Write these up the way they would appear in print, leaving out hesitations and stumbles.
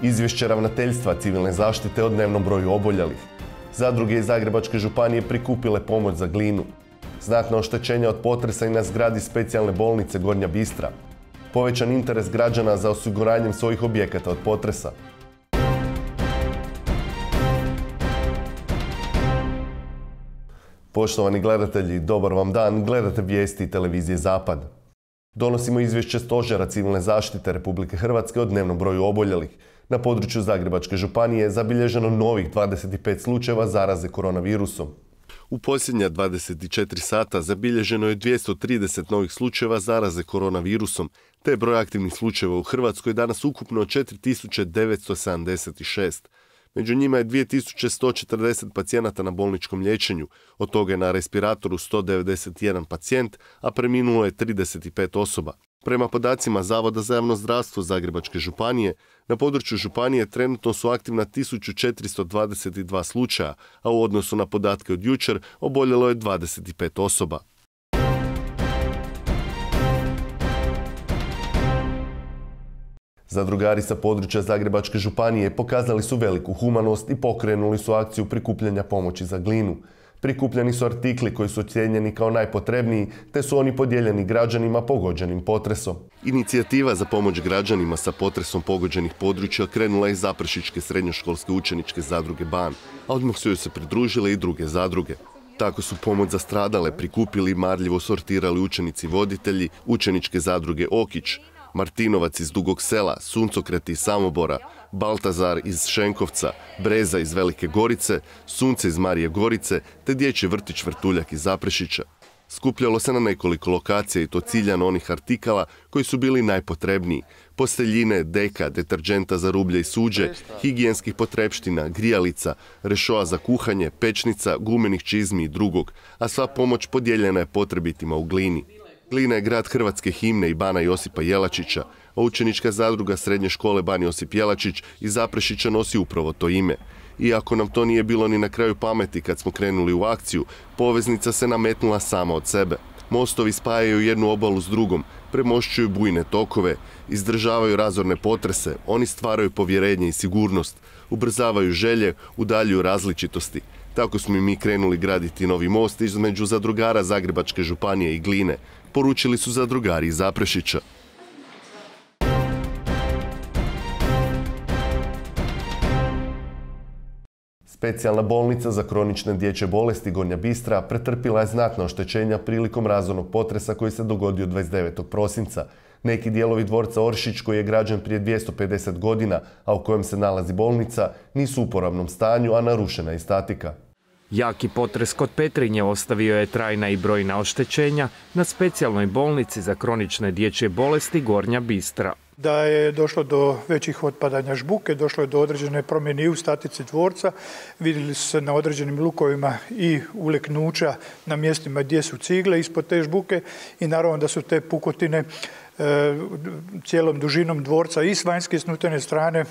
Izvješće ravnateljstva civilne zaštite o dnevnom broju oboljelih. Zadruge iz Zagrebačke županije prikupile pomoć za Glinu. Znatna oštećenja od potresa i na zgradi specijalne bolnice Gornja Bistra. Povećan interes građana za osiguranjem svojih objekata od potresa. Poštovani gledatelji, dobar vam dan, gledate vijesti televizije Zapad. Donosimo izvješće Stožera civilne zaštite Republike Hrvatske o dnevnom broju oboljelih. Na području Zagrebačke županije je zabilježeno novih 25 slučajeva zaraze koronavirusom. U posljednja 24 sata zabilježeno je 230 novih slučajeva zaraze koronavirusom, te je broj aktivnih slučajeva u Hrvatskoj danas ukupno 4976. Među njima je 2140 pacijenata na bolničkom liječenju, od toga je na respiratoru 191 pacijent, a preminulo je 35 osoba. Prema podacima Zavoda za javno zdravstvo Zagrebačke županije, na području županije trenutno su aktivna 1422 slučaja, a u odnosu na podatke od jučer oboljelo je 25 osoba. Zadrugari sa područja Zagrebačke županije pokazali su veliku humanost i pokrenuli su akciju prikupljanja pomoći za Glinu. Prikupljeni su artikli koji su ocijenjeni kao najpotrebniji, te su oni podijeljeni građanima pogođenim potresom. Inicijativa za pomoć građanima sa potresom pogođenih područja krenula iz Zaprešićke srednjoškolske učeničke zadruge Ban, a odmah su joj se pridružile i druge zadruge. Tako su pomoć za stradale prikupili i marljivo sortirali učenici voditelji učeničke zadruge Okić, Martinovac iz Dugog Sela, Suncokret iz Samobora, Baltazar iz Šenkovca, Breza iz Velike Gorice, Sunce iz Marije Gorice te dječji vrtić Vrtuljak iz Zaprešića. Skupljalo se na nekoliko lokacija i to ciljano onih artikala koji su bili najpotrebniji. Posteljine, deka, deterđenta za rublje i suđe, higijenskih potrepština, grijalica, rešoa za kuhanje, pečnica, gumenih čizmi i drugog, a sva pomoć podijeljena je potrebitima u Glini. Glina je grad hrvatske himne i Bana Josipa Jelačića, a učenička zadruga srednje škole Ban Josip Jelačić iz Zaprešića nosi upravo to ime. Iako nam to nije bilo ni na kraju pameti kad smo krenuli u akciju, poveznica se nametnula sama od sebe. Mostovi spajaju jednu obalu s drugom, premošćuju bujne tokove, izdržavaju razorne potrese, oni stvaraju povjerenje i sigurnost, ubrzavaju želje, udaljuju različitosti. Tako smo i mi krenuli graditi novi most između zadrugara Zagrebačke županije i Gline, poručili su zadrugari iz Zaprešića. Specijalna bolnica za kronične dječje bolesti Gornja Bistra pretrpila je znatna oštećenja prilikom razornog potresa koji se dogodio 29. prosinca. Neki dijelovi dvorca Oršić, koji je građen prije 250 godina, a u kojem se nalazi bolnica, nisu u uporabnom stanju, a narušena je statika. Jaki potres kod Petrinje ostavio je trajna i brojna oštećenja na specijalnoj bolnici za kronične dječje bolesti Gornja Bistra. Da je došlo do većih otpadanja žbuke, došlo je do određene promjene i u statici dvorca. Vidjeli su se na određenim lukovima i uleknuća na mjestima gdje su cigle ispod te žbuke i naravno da su te pukotine cijelom dužinom dvorca i s vanjske i s unutarnje strane,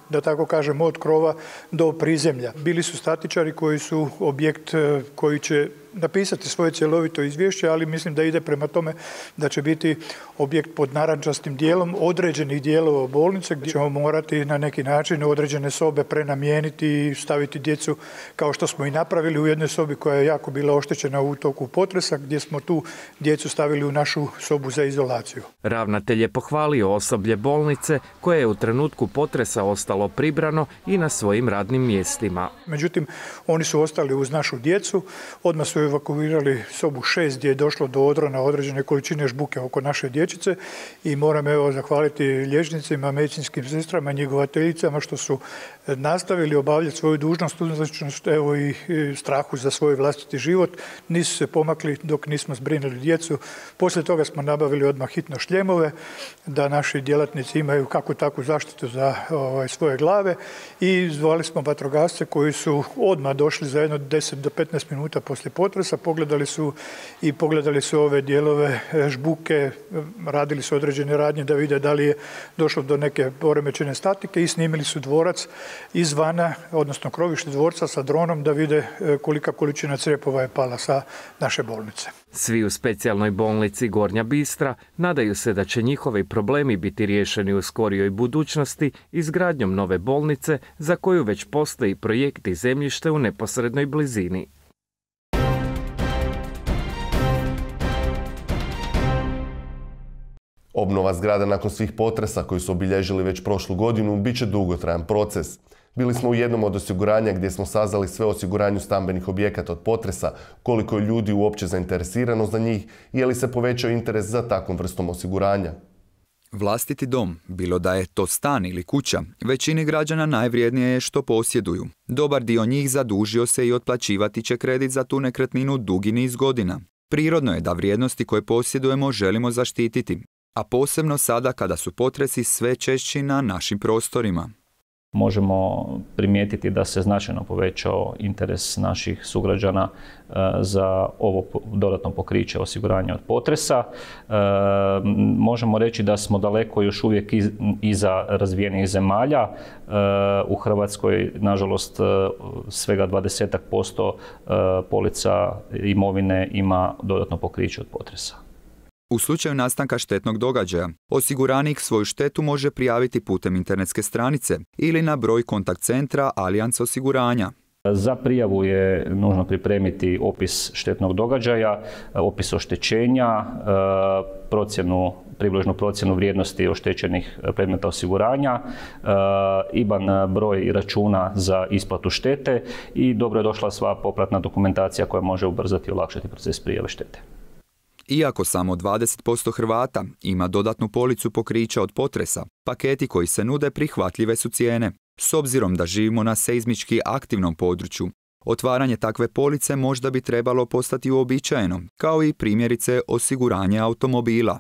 da tako kažem, od krova do prizemlja. Bili su statičari koji su objekt koji će napisati svoje cjelovito izvješće, ali mislim da ide prema tome da će biti objekt pod narančastim dijelom određenih dijelova bolnice gdje ćemo morati na neki način određene sobe prenamijeniti i staviti djecu kao što smo i napravili u jednoj sobi koja je jako bila oštećena u toku potresa, gdje smo tu djecu stavili u našu sobu za izolaciju. Ravnatelj je pohvalio osoblje bolnice koje je u trenutku potresa ostalo pribrano i na svojim radnim mjestima. Međutim, oni su ostali uz našu djecu, odmah su evakuirali sobu 6 gdje je došlo do odrona određene količine žbuke oko naše dječice i moram zahvaliti liječnicima, medicinskim sestrama, njegovateljicama što su nastavili obavljati svoju dužnost, unatoč i strahu za svoj vlastiti život. Nisu se pomakli dok nismo zbrinuli djecu. Poslije toga smo nabavili odmah hitno šljemove da naši djelatnici imaju kakvu takvu zaštitu za svoje glave i zvali smo vatrogasce koji su odmah došli za jedno 10 do 15 minuta poslije potresa potresa, pogledali su ove dijelove žbuke, radili su određene radnje da vide da li je došlo do neke poremećene statike i snimili su dvorac izvana, odnosno krovište dvorca sa dronom da vide kolika količina crijepova je pala sa naše bolnice. Svi u specijalnoj bolnici Gornja Bistra nadaju se da će njihovi problemi biti riješeni u skorijoj budućnosti izgradnjom nove bolnice za koju već postoji projekt i zemljište u neposrednoj blizini. Obnova zgrada nakon svih potresa koji su obilježili već prošlu godinu bit će dugotrajan proces. Bili smo u jednom od osiguranja gdje smo saznali sve o osiguranju stambenih objekata od potresa, koliko je ljudi uopće zainteresirano za njih i je li se povećao interes za takvom vrstom osiguranja. Vlastiti dom, bilo da je to stan ili kuća, većini građana najvrijednije je što posjeduju. Dobar dio njih zadužio se i otplaćivati će kredit za tu nekretninu dugi niz godina. Prirodno je da vrijednosti koje posjedujemo želimo zaštititi, a posebno sada kada su potresi sve češći na našim prostorima. Možemo primijetiti da se značajno povećao interes naših sugrađana za ovo dodatno pokriće osiguranja od potresa. Možemo reći da smo daleko još uvijek iza razvijenih zemalja. U Hrvatskoj, nažalost, svega 20% polica imovine ima dodatno pokriće od potresa. U slučaju nastanka štetnog događaja, osiguranik svoju štetu može prijaviti putem internetske stranice ili na broj kontakt centra Allianz osiguranja. Za prijavu je nužno pripremiti opis štetnog događaja, opis oštećenja, približnu procjenu vrijednosti oštećenih predmeta osiguranja, IBAN broj računa za isplatu štete i dobro je došla sva popratna dokumentacija koja može ubrzati i olakšati proces prijave štete. Iako samo 20% Hrvata ima dodatnu policu pokrića od potresa, paketi koji se nude prihvatljive su cijene. S obzirom da živimo na seizmički aktivnom području, otvaranje takve police možda bi trebalo postati uobičajeno, kao i primjerice osiguranje automobila.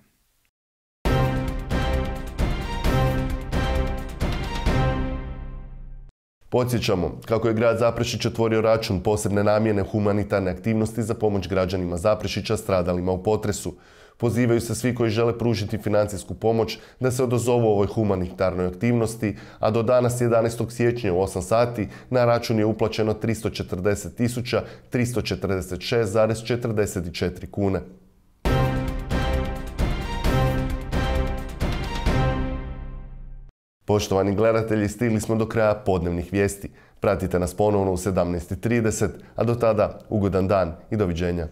Podsjećamo kako je grad Zaprešić otvorio račun posebne namjene humanitarne aktivnosti za pomoć građanima Zaprešića stradalima u potresu. Pozivaju se svi koji žele pružiti financijsku pomoć da se odazovu ovoj humanitarnoj aktivnosti, a do danas 11. siječnja u 8 sati na račun je uplaćeno 340.346,44 kune. Poštovani gledatelji, stigli smo do kraja podnevnih vijesti. Pratite nas ponovno u 17:30, a do tada ugodan dan i doviđenja.